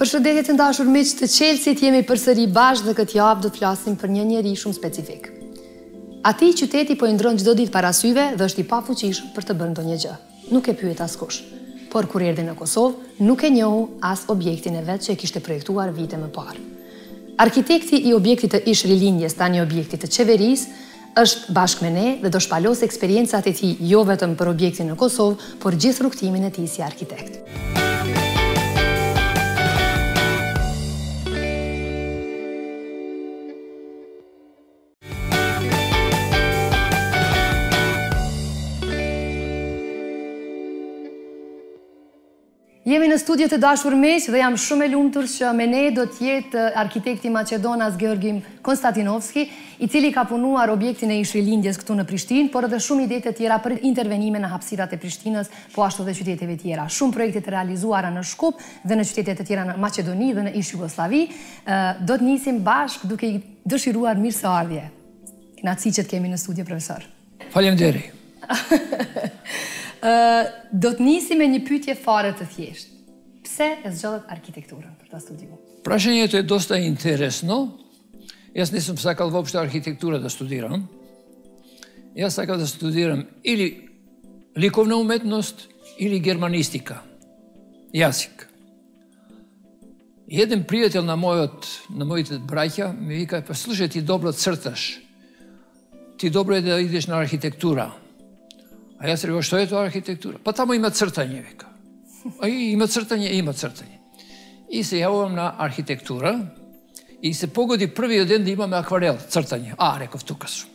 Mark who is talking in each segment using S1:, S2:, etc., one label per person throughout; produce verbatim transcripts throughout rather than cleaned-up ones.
S1: Përshëndetje të ndashur miq të Chelsea, jemi përsëri bashkë dhe këtë javë do të flasim për një njeri shumë specifik. Ati qyteti po i ndron çdo ditë para syve dhe është i pafuqishëm për të bërë ndonjë gjë. Nuk e pyet askush. Por kur erdhi në Kosovë, nuk e njohu as objektin e vet që e kishte projektuar vite më parë. Arkitekti i objektit të ish rilindjes, tani objektit të qeverisë, është bashkë me ne dhe do shpalos eksperiencat e tij jo vetëm për objektin në Kosovë, por gjithë rrugtimin e tij si arkitekt. Jemi në studio të dashur miq dhe jam shumë e lumtur që me ne do të jetë arkitekti Maqedonas Georgi Konstantinovski, i cili ka punuar objektin e ish rilindjes këtu në Prishtinë, por edhe shumë ide të tjera për intervenime në hapësirat e Prishtinës, po ashtu dhe qyteteve tjera. Shumë projekte të realizuara në Shkup dhe në qytete të tjera në Maqedoni dhe në ish Jugosllavi. Do të nisim bashkë duke i dëshiruar mirëseardhje. Kënaqësi që të kemi në studio, profesor.
S2: Faleminderit.
S1: Do të nisi me një pyetje fare të thjeshtë. Pse e zgjodhet arkitekturën për ta studiuar?
S2: Прашањето е доста интересно. Јас не сум сакал воопшто архитектура да студирам. Јас сакав да студирам или ликовна уметност, или германистика, јазик. И еден пријател на мојот, на моите браќа ми вика: "Па слушај, ти добро црташ. Ти добро е да идеш на архитектура." А јас реков: "Што е тоа архитектура?" "Па таму има цртање", вика. А и има цртање, има цртање. И се јавувам на архитектура и се погоди првиот ден да имаме акварел, цртање. А, реков, тука сум.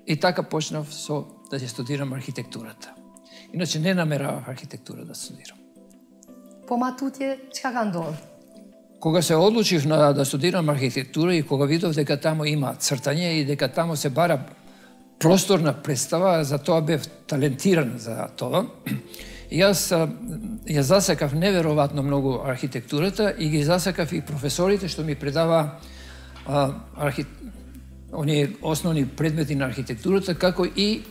S2: И така почнав со да ќе студирам архитектурата. Иначе не намеравав архитектура да студирам.
S1: Po matutje, çka ka ndodhur?
S2: Кога се одлучив на да студирам архитектура и кога видов дека таму има цртање и дека таму се бара просторна представа, за тоа бев талентиран за тоа. Јас ја засекав неверојатно многу архитектурата и ги засекав и професорите што ми предава архи... оние основни предмети на архитектурата, како и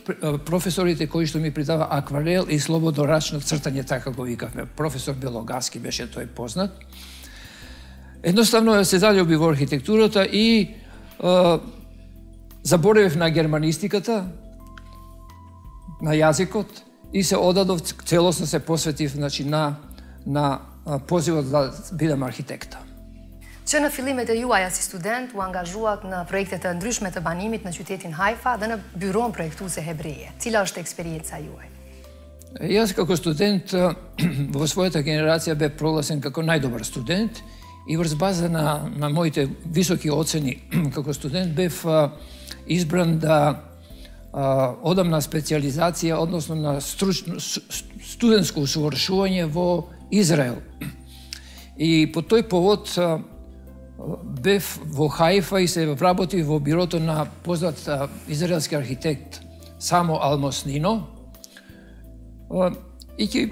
S2: професорите кои што ми предава акварел и слободорачно цртање, така го викавме. Професор Белогаски беше тој познат. Едноставно се заљубив во архитектурата и а, заборавив на германистиката, на јазикот и се одадов, целосно се посветив, значи, на, на позивот да бидам архитекта.
S1: Që në fillimet e juaja si student u angazhuat në projekte të ndryshme të banimit në qytetin Haifa dhe në byron projektuese hebreje. Cila është eksperienca juaj?
S2: Јас како студент во својата генерација бев прогласен како најдобар студент и врз база на, на моите високи оцени како студент бев избран да а, одам на специализација, односно на стручно, студентско усовршување во Израел. И по тој повод а, бев во Хаифа и се вработив во бирото на познат а, израелски архитект Само Алмоснино. А, и ќе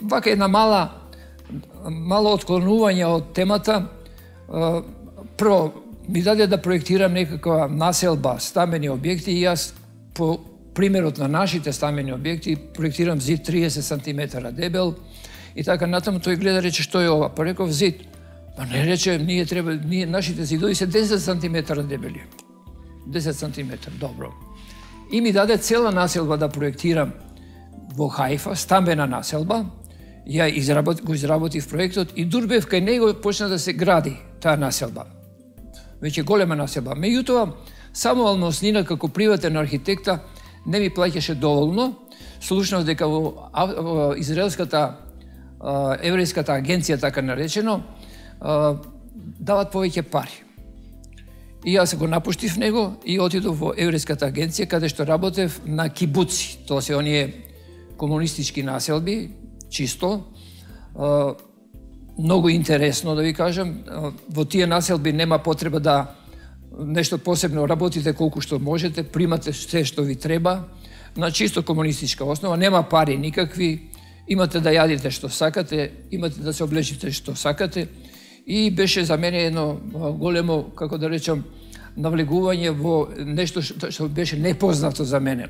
S2: вака една мала мало отклонување од темата. А, прво, ми даде да проектирам некаква населба, стамбени објекти и јас по примерот на нашите стамбени објекти проектирам зид триесет сантиметра дебел и така натаму. Тој гледа, рече: "Што е ова?" Па реков: "Зид." Па не, рече, ние треба, ние нашите зидови се десет сантиметра дебели. десет сантиметра, добро. И ми даде цела населба да проектирам во Хаифа, стамбена населба. Ја изработ, го изработив проектот и дур бев кај него почна да се гради таа населба. Веќе голема населба. Меѓутоа, Само Алмоснина како приватен архитекта не ми плаќаше доволно. Слушнав дека во, во израелската еврејската агенција, така наречено, дават повеќе пари. И јас го напуштив него и отидов во еврејската агенција, каде што работев на кибуци. Тоа се оние комунистички населби, чисто. Многу интересно, да ви кажам. Во тие населби нема потреба да нешто посебно работите колку што можете, примате се што ви треба, на чисто комунистичка основа, нема пари никакви, имате да јадите што сакате, имате да се облечите што сакате. И беше за мене едно големо, како да речам, навлегување во нешто што беше непознато за мене.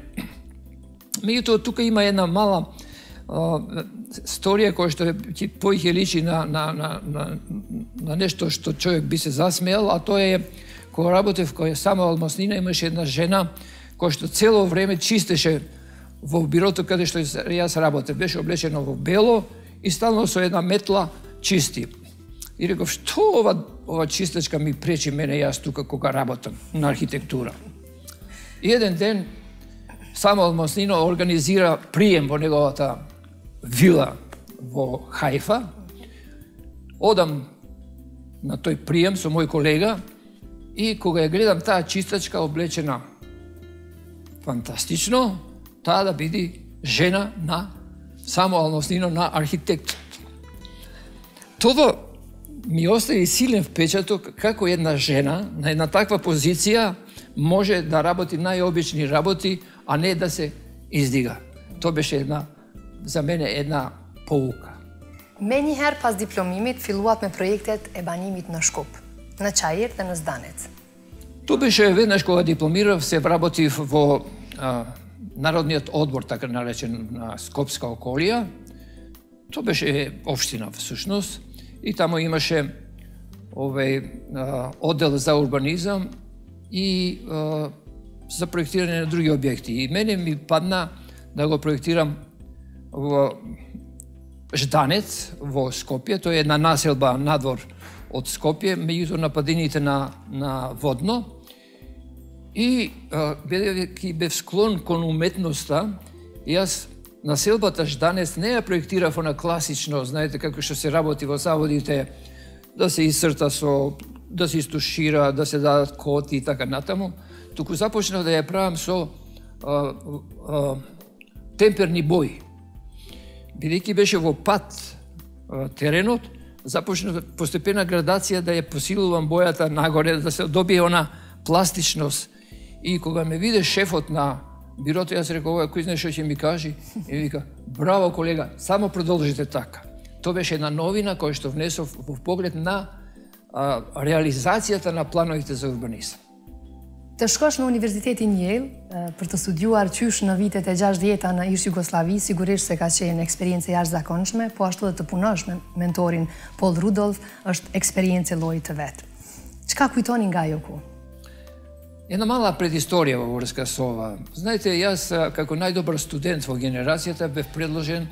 S2: Меѓутоа, тука има една мала сторија која што ќе поиќе личи на, на, на, на, на нешто што човек би се засмеал, а тоа е кога работев која Самуел Моснина, имаше една жена која што цело време чистеше во бирото каде што јас работев. Беше облечена во бело и стално со една метла чисти. И реков, што ова, ова чистачка ми пречи мене јас тука кога работам на архитектура. И еден ден Самуел Моснина организира прием во неговата вила во Хајфа. Одам на тој прием со мој колега и кога ја гледам таа чистачка облечена фантастично, таа да биде жена на Самуел Моснина, на архитектот. Тоа ми остави силен впечаток како една жена на една таква позиција може да работи најобични работи, а не да се издига. Тоа беше една, за мене една поука.
S1: Ме njëherë pas diplomimit filluat me projektet e banimit në Shkup, në Çajir dhe në Zdanec.
S2: Тоа беше веднаш кога дипломирав, се вработив во а, Народниот одбор, така наречен, на Скопска околија. Тоа беше општина всушност и таму имаше овој а, оддел за урбанизам и а, за проектирање на други објекти. И мене ми падна да го проектирам во Жданец во Скопје, тоа е една населба надвор од Скопје, меѓутоа на падините на, на Водно. И бидејќи бев склон кон уметноста, јас населбата Жданец не ја проектирав на класично, знаете како што се работи во заводите, да се исцрта со, да се истушира, да се дадат коти и така натаму, туку започнав да ја правам со а, а, темперни бои. Бидејќи беше во пат а, теренот, започнав постепена градација да ја посилувам бојата нагоре, да се добие она пластичност. И кога ме виде шефот на бирото, јас реков, ова кој знае што ќе ми кажи, и вика, браво колега, само продолжите така. Тоа беше една новина која што внесов во поглед на а, реализацијата на плановите за урбанизам.
S1: Të shkosh në Universitetin Yale për të studiuar qysh në vitet e gjashtëdhjeta në ish Jugosllavi, sigurisht se ka qenë eksperiencë jashtëzakonshme, po ashtu edhe të punosh me mentorin Paul Rudolph është eksperiencë lloji të vet. Çka kujtoni nga ajo ku?
S2: Една мала предисторија во врска со ова. Знаете, јас како најдобар студент во генерацијата бев предложен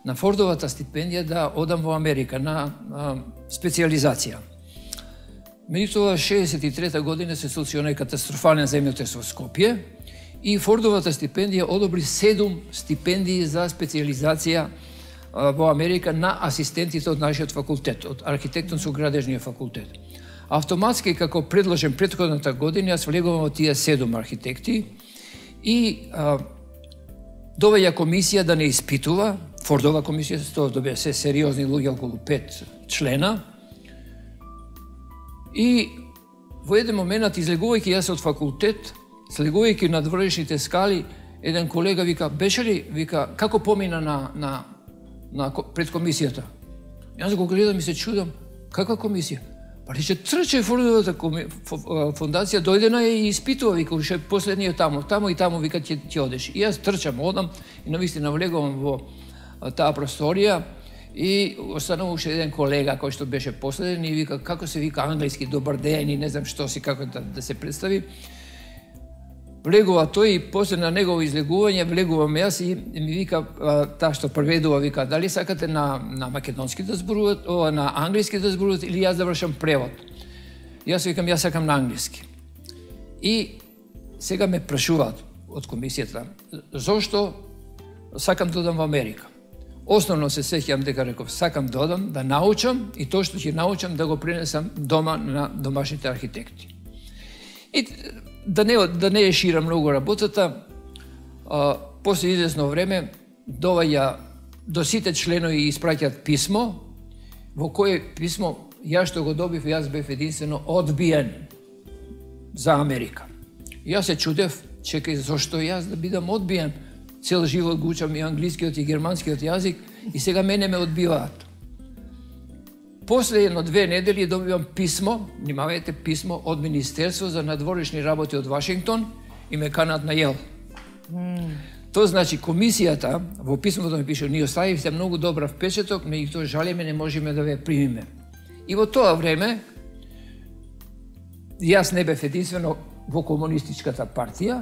S2: на Фордовата стипендија да одам во Америка на а, специализација. Меѓутоа, шеесет и трета година се случи онај катастрофален земјотрес во Скопје и Фордовата стипендија одобри седум стипендии за специализација а, во Америка на асистентите од нашиот факултет, од архитектонско-градежниот факултет. Автоматски, како предложен претходната година, јас влегувам во тие седум архитекти и а, довеја комисија да не испитува, Фордова комисија, тоа добија се сериозни луѓе, околу пет члена. И во еден момент, излегувајќи јас од факултет, слегувајќи на двршните скали, еден колега вика, беше ли, вика, како помина на, на, на пред комисијата? Јас го гледам и се чудам, каква комисија? Па рече, трче Фордовата фондација, дојде на и испитува, вика, уште последниот таму, таму и таму, вика, ќе, ќе одеш. И јас трчам, одам и навистина влегувам во таа просторија и останува уште еден колега кој што беше последен и вика, како се вика англиски, добар ден и не знам што си, како да, да се представи. Влегува тој и после на негово излегување влегувам јас и ми вика, таа што преведува, вика, дали сакате на, на македонски да зборуват, ова на англиски да зборуват или јас да вршам превод. Јас викам, јас сакам на англиски. И сега ме прашуваат од комисијата, зошто сакам да одам во Америка. Основно се сеќавам дека реков, сакам да одам, да научам и тоа што ќе научам да го пренесам дома на домашните архитекти. И да не, да не е шира многу работата, а, после известно време доваѓа до сите членови и испраќаат писмо, во кое писмо јас што го добив, јас бев единствено одбиен за Америка. Јас се чудев, чекај, зошто јас да бидам одбиен? Цел живот го учам и англискиот и германскиот јазик и сега мене ме одбиваат. После едно-две недели добивам писмо, внимавајте, писмо од Министерство за надворешни работи од Вашингтон и ме канат на Јел. Mm. Тоа значи комисијата во писмото ми пише: ние оставивте многу добар впечаток, меѓутоа жалиме не можеме да ве примиме. И во тоа време јас не бев единствено во комунистичката партија,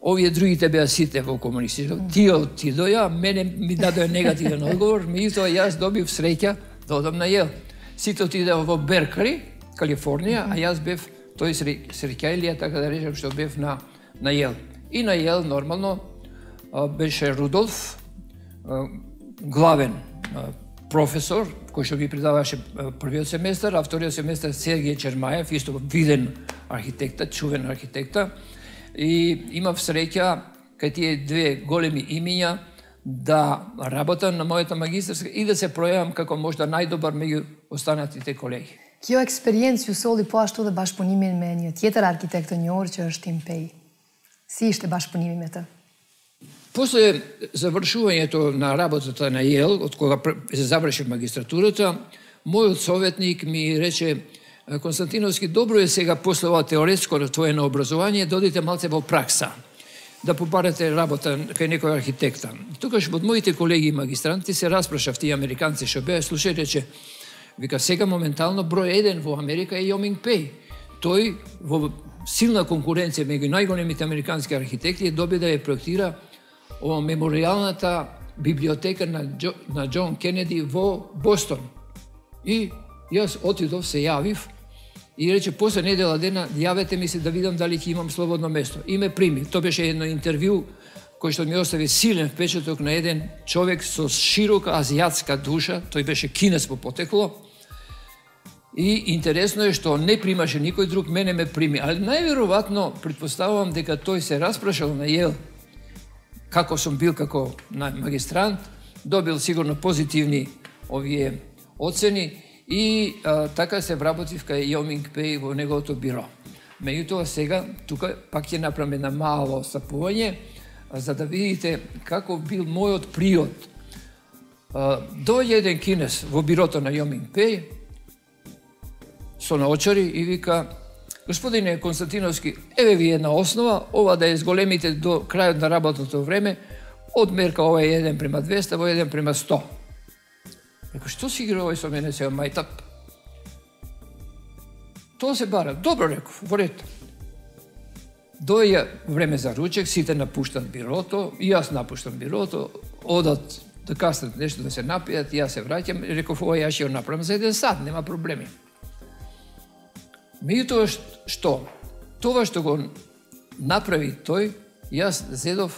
S2: овие другите беа сите во комунистичката. Тие отидоја, мене ми дадоа негативен одговор, меѓутоа јас добив среќа да одам на Јел. Сите отидеа во Беркли, Калифорнија, а јас бев тој среќајлија, така да речем, што бев на на Јел. И на Јел нормално беше Рудолф, главен професор, кој што ми предаваше првиот семестар, а вториот семестар Сергеј Чермаев, исто виден архитекта, чувен архитекта. И имав среќа кај тие две големи имиња да работам на мојата магистарска и да се пројавам како можда најдобар меѓу останатите колеги.
S1: Kjo eksperiencë ju solli po ashtu dhe bashkëpunimin me një tjetër arkitekt të njohur që është Tim Pej. Si ishte bashkëpunimi me të?
S2: После завршувањето на работата на Јел, од кога се завршив магистратурата, мојот советник ми рече: Константиновски, добро е сега после ова теоретско твоено образование, додите малце во пракса, да побарате работа кај некој архитекта. Тогаш од моите колеги магистранти се распрашав тие американци што беа, слушај, рече, вика, сега моментално број еден во Америка е Јоминг Пеј. Тој во силна конкуренција меѓу најголемите американски архитекти доби да ја проектира ова меморијалната библиотека на, Джо, на Џон Кенеди во Бостон. И јас отидов, се јавив и рече: после недела дена јавете ми се да видам дали ќе имам слободно место. И ме прими. Тоа беше едно интервју кој што ми остави силен впечаток на еден човек со широка азијатска душа, тој беше кинес по потекло. И интересно е што не примаше никој друг, мене ме прими. Ali најверојатно претпоставувам дека тој се распрашал на Јел како сум бил како магистрант, добил сигурно позитивни овие оцени и а, така се вработив кај Јоминг Пеј во неговото биро. Меѓутоа сега тука пак ќе направам една мало стапување, за да видите како бил мојот приод. Дојде еден кинес во бирото на Јоминг Пеј со наочари и вика: Господине Константиновски, еве ви една основа, ова да е зголемите до крајот на работното време, од мерка ова е еден према двеста, во еден према сто. Реко, што си игра овој со мене сега, мајтап? Тоа се бара. Добро, реков, во ред. Доја време за ручек, сите напуштат бирото, и јас напуштам бирото, одат да каснат нешто да се напијат, и јас се враќам, и реков, ова јас ќе го направам за еден сат, нема проблеми. Меѓутоа што? Тоа што го направи тој, јас зедов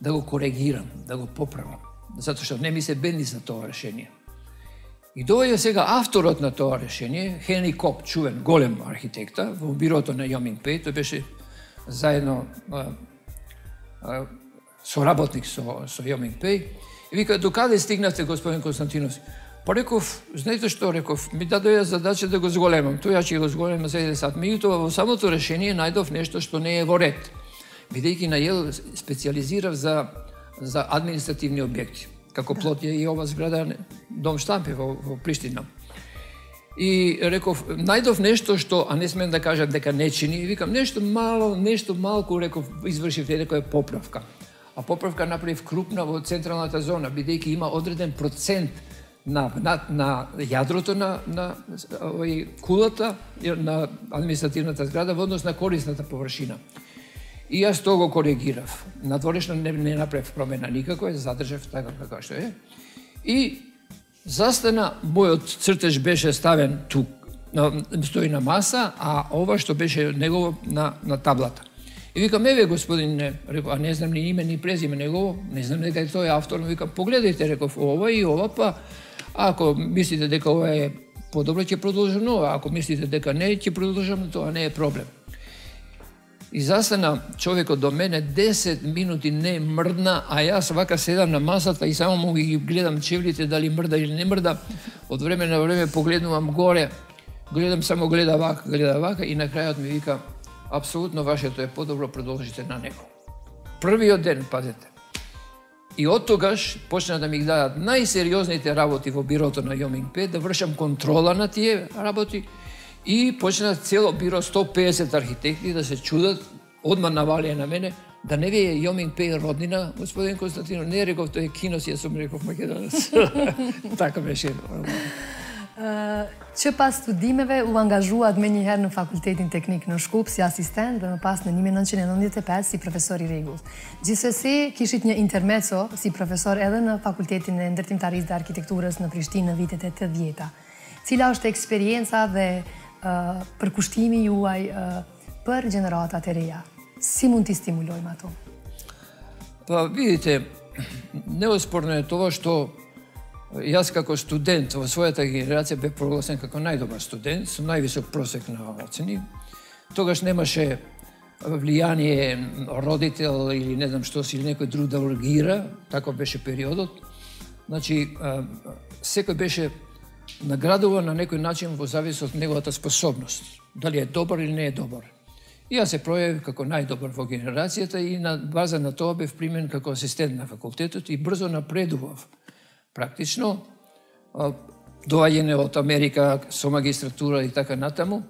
S2: да го коригирам, да го поправам, затоа што не ми се бенди за тоа решение. И доаѓа сега авторот на тоа решение, Хенри Коп, чувен, голем архитекта, во бирото на Јоминг Пеј, тој беше заедно а, а, соработник со, со Јоминг Пеј, и вика: докаде стигнавте, господин Константиновски? Па реков, знаете што, реков, ми дадоја задача да го зголемам, тој ја ќе го зголемам за еден сат. Меѓутоа во самото решение најдов нешто што не е во ред, бидејќи на Јел специализирав за, за административни објекти, како плот е и ова зграда Дом Штампи во, во Приштина. И реков, најдов нешто што, а не смеем да кажам дека не чини, и викам, нешто мало, нешто малку, реков, извршив некоја поправка. А поправка направив крупна во централната зона, бидејќи има одреден процент на, на, на јадрото на, на овој кулата, на административната зграда во однос на корисната површина. И јас тоа го коригирав. Надворешно не, не направив промена никако, задржав така како што е. И застана, мојот цртеж беше ставен тук, стои на маса, а ова што беше негово на, на таблата. И викам, еве господине, реков, а не знам ни име, ни презиме негово, не знам дека е тој автор, но викам, погледајте, реков, ова и ова, па ако мислите дека ова е подобро, ќе продолжам ова, ако мислите дека не, ќе продолжам, тоа не е проблем. И застана човекот до мене, десет минути не мрдна, а јас вака седам на масата и само му ги гледам чевлите дали мрда или не мрда. Од време на време погледнувам горе, гледам само гледа вака, гледа вака и на крајот ми вика, апсолутно вашето е подобро, продолжите на него. Првиот ден, пазете. И од тогаш почна да ми дадат најсериозните работи во бирото на Јоминг Пеј, да вршам контрола на тие работи. И почна цело биро, сто педесет архитекти да се чудат, одма навалија на мене, да не ви е Јоминг Пеј роднина, господин Константино, не реков, тој е кинос, јас сум реков македонец. Така беше.
S1: Që pas studimeve u angazhuat me njëherë në Fakultetin Teknik në Shkup si asistent dhe më pas në një mijë e nëntëqind e nëntëdhjetë e pesë si profesor i rregull. Gjithsesi kishit një intermezzo si profesor edhe në Fakultetin e Ndërtimtarisë dhe Arkitekturës në Prishtinë në vitet e tetëdhjeta. Cila është eksperienca dhe përkushtimi juaj për gjeneratat e reja? Si mund t'i stimulojmë ato?
S2: Pa vidite, neosporno je тоа што јас како студент во својата генерација бев прогласен како најдобар студент, со највисок просек на оцени. Тогаш немаше влијание родител или не знам што си, или некој друг да ургира, тако беше периодот. Значи, секој беше наградуван на некој начин во завис од неговата способност, дали е добар или не е добар. И јас се пројавив како најдобар во генерацијата и на база на тоа бев примен како асистент на факултетот и брзо напредував. Практично, доаѓање од Америка со магистратура и така натаму.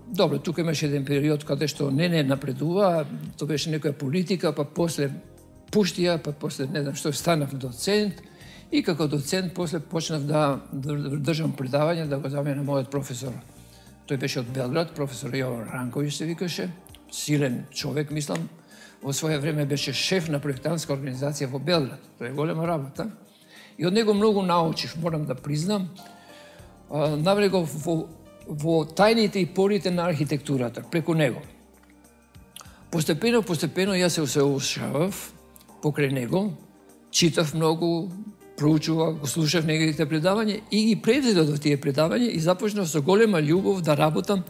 S2: Добро, тука имаше еден период каде што не не напредува, тоа беше некоја политика, па после пуштија, па после не знам што станав доцент и како доцент после почнав да држам предавање, да го заменам мојот професор. Тој беше од Белград, професор Јован Ранковиќ се викаше, силен човек, мислам. Во свое време беше шеф на проектантска организација во Белград. Тоа е голема работа. И од него многу научив, морам да признам. Навлегов во, во тајните и порите на архитектурата, преку него. Постепено, постепено јас се усоушавав покрај него, читав многу, проучував, го слушав неговите предавања и ги превзедов до тие предавања и започнав со голема љубов да работам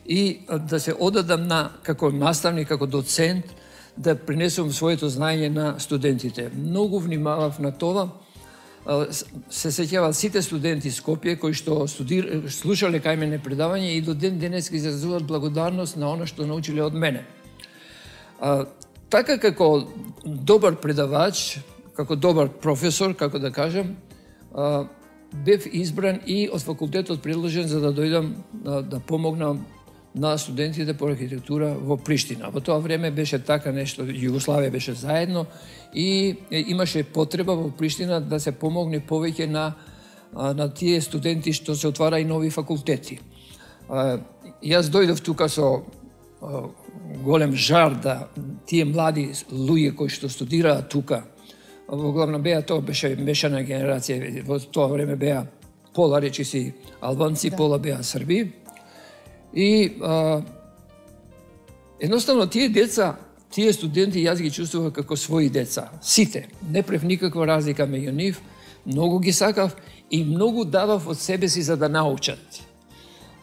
S2: и да се одадам на како наставник, како доцент, да принесувам своето знаење на студентите. Многу внимавав на тоа. Се сеќаваат сите студенти из Скопје кои што студир... слушале кај мене предавање и до ден денес ги изразуваат благодарност на она што научиле од мене. А, така како добар предавач, како добар професор, како да кажам, а, бев избран и од факултетот предложен за да дојдам да, да помогнам на студентите по архитектура во Приштина. Во тоа време беше така нешто, Југославија беше заедно и имаше потреба во Приштина да се помогне повеќе на, на тие студенти што се отвара и нови факултети. Јас дојдов тука со голем жар да тие млади луѓе кои што студираат тука, во главно беа, тоа беше мешана генерација, во тоа време беа пола речи си албанци, да. Пола беа срби. И а, едноставно тие деца, тие студенти јас ги чувствував како своји деца. Сите, не прев никаква разлика меѓу нив, многу ги сакав и многу давав од себе си за да научат.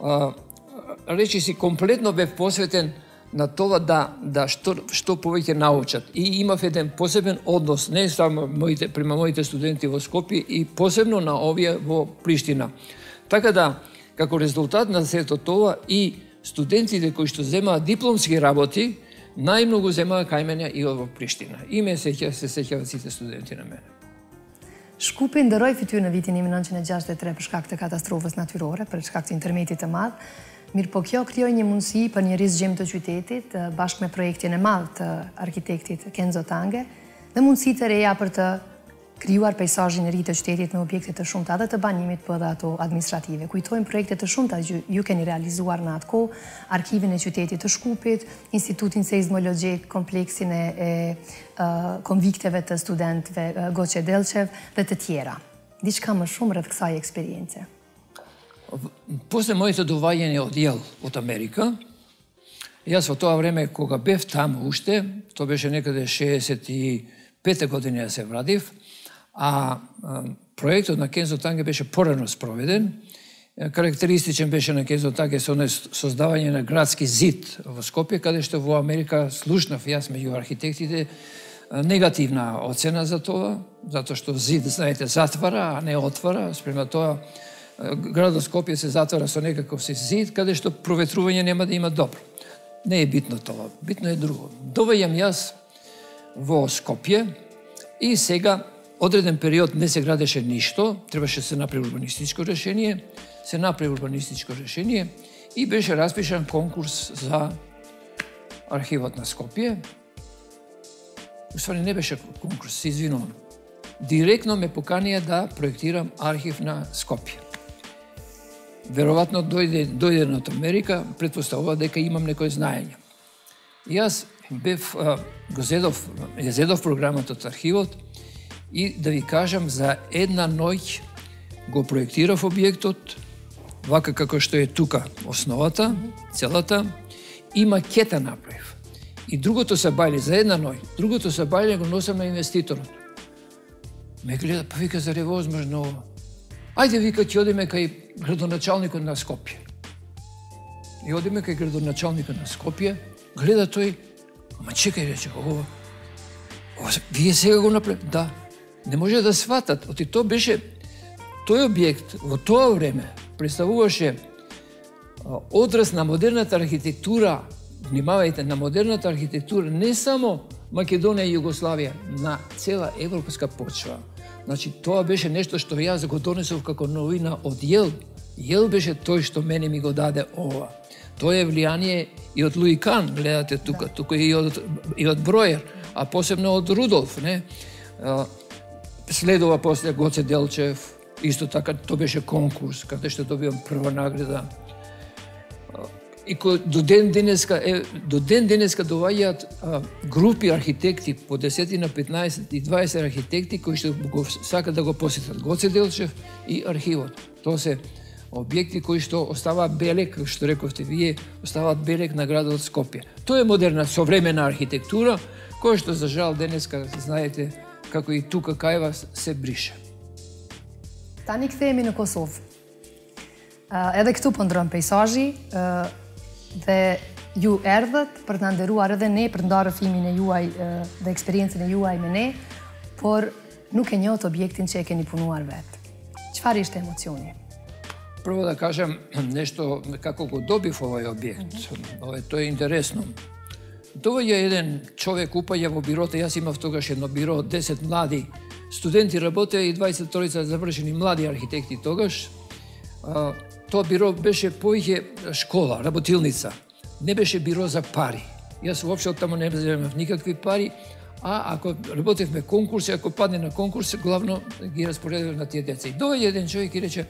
S2: А, речи си, комплетно бев посветен на тоа да, да што, што повеќе научат. И имав еден посебен однос, не само моите, према моите студенти во Скопје и посебно на овие во Приштина. Така да, како резултат на сето тоа и студентите кои што земаат дипломски работи, најмногу земаат кај мене и во Приштина. И ме сеќа, се сеќават сите студенти на мене.
S1: Shkupi ndëroi fytyrë në vitin një mijë e nëntëqind e gjashtëdhjetë e tre për shkak të katastrofës natyrore, për shkak të intermetit të madh. Mirë po kjo krijoi një mundësi për një rizgjim të qytetit, bashkë me projektin e madh të arkitektit Kenzo Tange, dhe mundësi të reja për të krijuar peizazhin e ri të qytetit me objekte të shumta dhe të banimit po edhe ato administrative. Kujtojmë projekte të shumta që ju keni realizuar në atë kohë, arkivin e qytetit të Shkupit, institutin seizmologjik, kompleksin e, e uh, konvikteve të studentëve uh, Goçe Delçev dhe të tjera. Diçka më shumë rreth kësaj eksperience.
S2: После моето доаѓање од Јел од Америка, јас во тоа време кога бев таму уште, тоа беше некаде шеесет и пета година ја се врадив, а, а проектот на Kenzo Tange беше порано спроведен. Карактеристичен беше на Kenzo Tange со создавање на градски зид во Скопје, каде што во Америка слушнав јас меѓу архитектите негативна оцена за тоа, затоа што зид, знаете, затвара, а не отвара. Спрема тоа, градот Скопје се затвара со некаков си зид, каде што проветрување нема да има добро. Не е битно тоа, битно е друго. Доваѓам јас во Скопје и сега одреден период не се градеше ништо, требаше се направи урбанистичко решение, се направи урбанистичко решение и беше распишан конкурс за архивот на Скопје уствари не беше конкурс, се извинувам. Директно ме поканија да проектирам архив на Скопје. Веројатно дојде, дојде од Америка, претпоставува дека имам некој знаење. И јас бев, го зедов, ја зедов програмата од архивот и да ви кажам, за една ноќ го проектирав објектот, вака како што е тука основата, целата, и макета направив. И другото се бајле за една ноќ, другото се бајле го носам на инвеститорот. Ме гледа, па вика, зар е возможно ова? Ајде, вика, ќе одиме кај градоначалникот на Скопје. И одиме кај градоначалникот на Скопје, гледа тој, ама чекај, рече, ова, ова, вие сега го направи? Да. Не може да сватат, оти тоа беше, тој објект во тоа време представуваше одраз на модерната архитектура, внимавајте, на модерната архитектура, не само Македонија и Југославија, на цела европска почва. Значи, тоа беше нешто што јас го донесов како новина од Јел. Јел беше тој што мене ми го даде ова. Тоа е влијание и од Луи Кан, гледате тука, да. Тука и од, и од Бројер, а посебно од Рудолф, не? Следува после Гоце Делчев, исто така, тоа беше конкурс, каде што добивам прва награда. И кој до ден денеска е до ден денеска доаѓаат групи архитекти, по десетина, петнаесет и дваесет архитекти кои што го сакаат да го посетат Гоце Делчев и архивот. Тоа се објекти кои што оставаат белег, што рековте вие, оставаат белег на градот Скопје. Тоа е модерна современа архитектура која што за жал денеска знаете како и тука кај вас се брише.
S1: Tani kthehemi në Kosovë. Uh, edhe këtu po ndron peizazhi, uh, dhe ju erdhët për të na nderuar edhe ne për të ndarë rrëfimin e juaj uh, dhe eksperiencën e juaj me ne, por nuk e njohët objektin që e keni punuar vetë. Çfarë ishte emocioni?
S2: Прво да кажам нешто како го добив овој објект. Ова тоа е интересно. Доаѓа еден човек, упаѓа во бирото, јас имав тогаш едно биро, десет млади студенти работеа и дваесет и тројца завршени млади архитекти тогаш. Тоа биро беше поиќе школа, работилница. Не беше биро за пари. Јас воопшто таму не земав никакви пари, а ако работевме конкурси, ако падне на конкурс, главно ги распоредував на тие деца. И доаѓа еден човек и рече,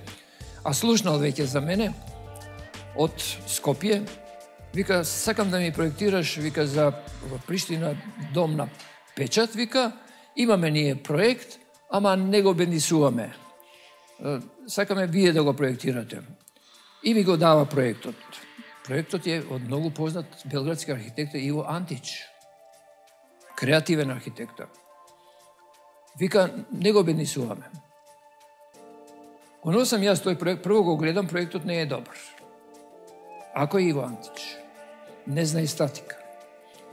S2: а слушнал веќе за мене, од Скопје, вика, сакам да ми проектираш, вика, за Приштина дом на печат, вика, имаме ние проект, ама не го бенисуваме. Сакаме вие да го проектирате. И ми го дава проектот. Проектот е од многу познат белградски архитекта Иво Антич. Креативен архитекта. Вика, не го бенисуваме. Кога сам јас тој проект, прво го гледам, проектот не е добар. Ако е Иво Антич, не знае статика.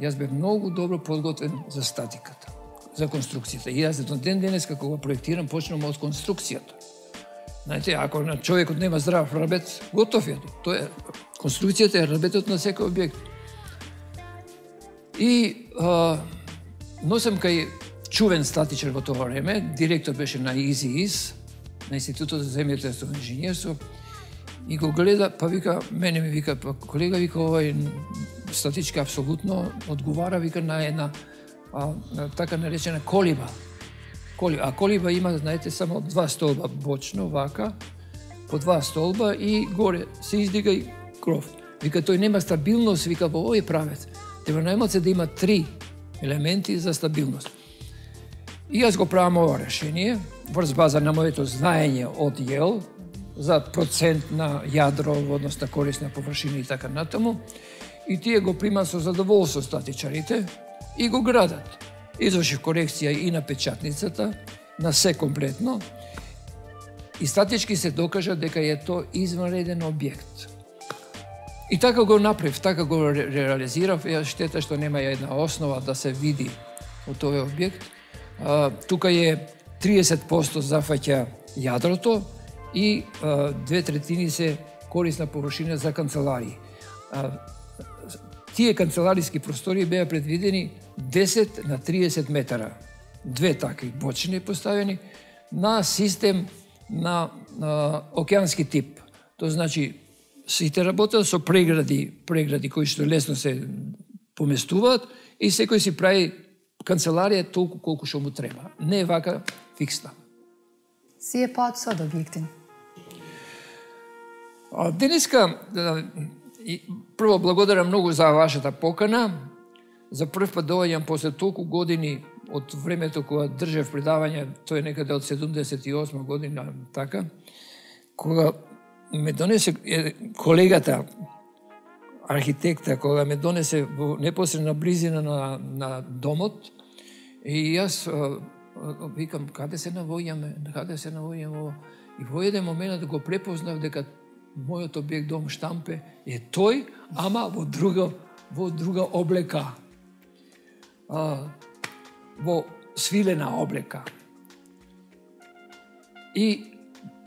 S2: Јас бев многу добро подготвен за статиката, за конструкцијата. И јас до ден денес како го проектирам, почнам од конструкцијата. Знаете, ако на човекот нема здрав рабет, готов е. Тоа е конструкцијата е рабетот на секој објект. И а, носам кај чувен статичар во тоа време, директор беше на ИЗИИС, на Институтот за земјотресно инженерство, и го гледа, па вика, мене ми вика, па колега, вика, овај статичка апсолутно одговара, вика, на една а, на така наречена колиба. Колиба. А колиба има, знаете, само два столба бочно, вака, по два столба и горе се издига и кров. Вика, тој нема стабилност, вика, во овој правец. Треба најмалце да има три елементи за стабилност. И јас го правам ова решение, врз база на моето знаење од Јел, за процент на јадро, односно корисна површина и така натаму. И тие го примат со задоволство статичарите и го градат. Извршив корекција и на печатницата, на се комплетно. И статички се докажа дека е тоа извнреден објект. И така го направив, така го ре реализирав. Ја штета што нема една основа да се види од овој објект. А, тука е триесет проценти зафаќа јадрото и а, две третини се корисна површина за канцеларии. А, тие канцелариски простори беа предвидени десет на триесет метара. Две такви бочини поставени на систем на, на океански тип. Тоа значи сите работат со прегради, прегради кои што лесно се поместуваат и секој си прави канцеларија е толку колку што му треба. Не е вака фиксна.
S1: Si e pa sot objektin?
S2: Денеска, прво благодарам многу за вашата покана. За прв пат доаѓам после толку години од времето кога држев предавање, тоа е некаде од седумдесет и осма година, така, кога ме донесе колегата, архитекта, кога ме донесе во непосредна близина на, на домот, и јас викам, каде се навојаме, каде се навојаме, и во еден момент да го препознав дека мојот објект дом Штампе е тој, ама во друга, во друга облека. А, во свилена облека. И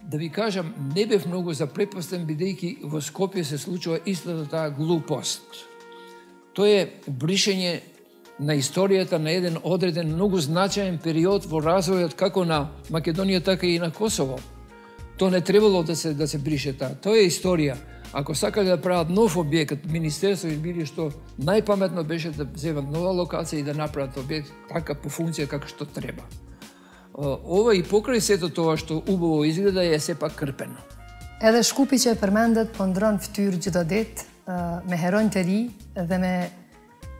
S2: да ви кажам, не бев многу запрепастен, бидејќи во Скопје се случува истата таа глупост. Тоа е бришење на историјата на еден одреден, многу значаен период во развојот како на Македонија, така и на Косово. Тоа не требало да се да се брише таа. Тоа е историја. Ако сакале да прават нов објект, Министерство или што најпаметно беше да земат нова локација и да направат објект така по функција како што треба. Ова и покрај сето тоа што убаво изгледа е сепак крпено.
S1: Edhe Shkupi që e përmendet po ndron fytyrë çdo ditë, me heronj të ri dhe me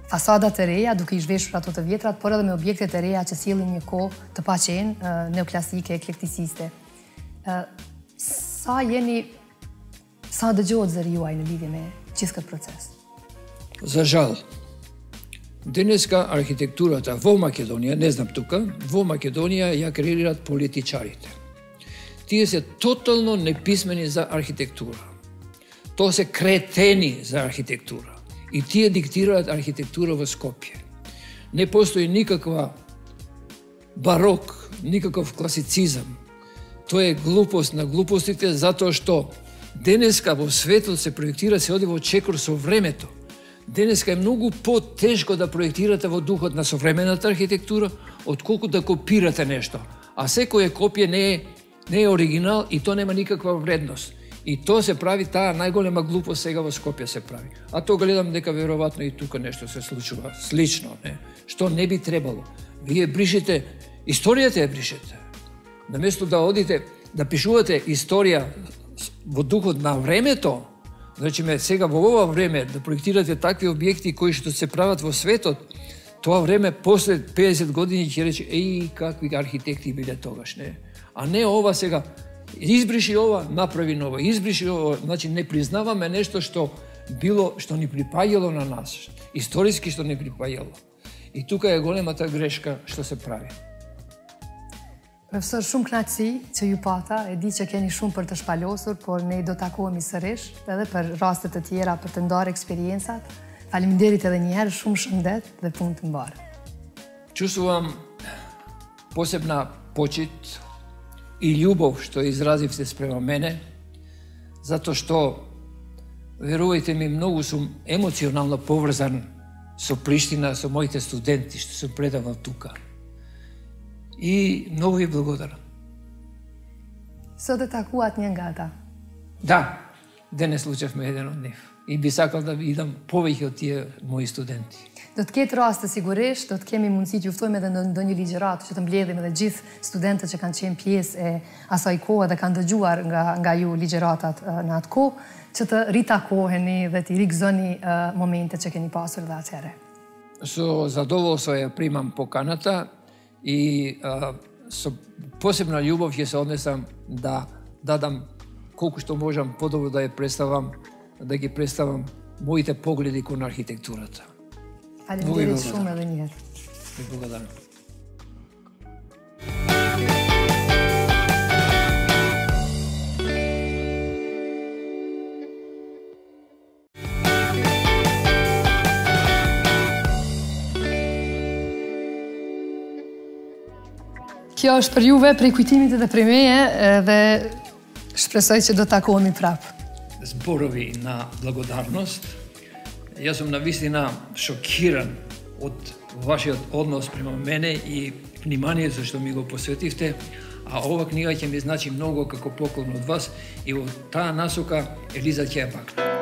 S1: fasada të reja, duke i zhveshur ato të vjetrat, por edhe me objekte të reja që sjellin një kohë të paqen, neoklasike, eklektisiste. Sa jeni, sa dëgjohet zëri juaj në lidhje me gjithë këtë proces?
S2: За жал, денеска архитектурата во Македонија, не знам тука, во Македонија ја креират политичарите. Тие се тотално неписмени за архитектура. Тоа се кретени за архитектура. И тие диктираат архитектура во Скопје. Не постои никаква барок, никаков класицизам. Тоа е глупост на глупостите, затоа што денеска во светот се проектира, се оди во чекор со времето. Денеска е многу потешко да проектирате во духот на современата архитектура, отколку да копирате нешто. А секоја копија не е, не е оригинал и тоа нема никаква вредност. И тоа се прави, таа најголема глупост сега во Скопје се прави. А тоа гледам дека веројатно и тука нешто се случува слично, не? Што не би требало. Вие бришите, историјата ја бришете. Наместо да одите, да пишувате историја во духот на времето, значи ме сега во ова време да проектирате такви објекти кои што се прават во светот, тоа време после педесет години ќе рече, еј, какви архитекти биле тогаш, не? А не ова сега, избриши ова, направи ново, избриши ова, значи не признаваме нешто што било, што ни припаѓало на нас, историски што ни припаѓало. И тука е големата грешка што се прави.
S1: Profesor, shumë kënaqësi që ju pata, e di që keni shumë për të shpalosur, por ne do takohemi sërish, edhe për raste të tjera për të ndarë eksperiencat. Faleminderit edhe një herë, shumë shëndet dhe punë të mbarë.
S2: Чувствувам посебна почит и љубов што изразивте спрема мене, затоа што, верувајте ми, многу сум емоционално поврзан со Приштина, со моите студенти што сум предавал тука. И многу ви благодарам.
S1: Sot e takuat një nga ata.
S2: Да, денес случевме еден од нив. И би сакал да идам повеќе од тие мои студенти.
S1: Do të ketë raste sigurisht, do të kemi mundësi të juftojmë edhe në ndonjë ligjërat që të mbledhim edhe gjithë studentët që kanë qenë pjesë e asaj kohe dhe kanë dëgjuar nga nga ju ligjëratat në atë kohë, që të ritakoheni dhe të rikëzoni momentet që keni pasur dhe atëherë.
S2: Со задоволство ја примам поканата и а, со посебна љубов ќе се однесам да дадам колку што можам подобро да ја представам, да ги представам моите погледи кон архитектурата.
S1: Faleminderit shumë edhe një herë.
S2: Ви благодарам.
S1: Kjo është për juve prej kujtimit edhe prej meje dhe shpresoj që do të takohemi prapë.
S2: Зборови на благодарност. Јас сум навистина шокиран од вашиот однос према мене и вниманието што ми го посветивте, а ова книга ќе ми значи многу како поклон од вас и во таа насока Елиза ќе ја пакне.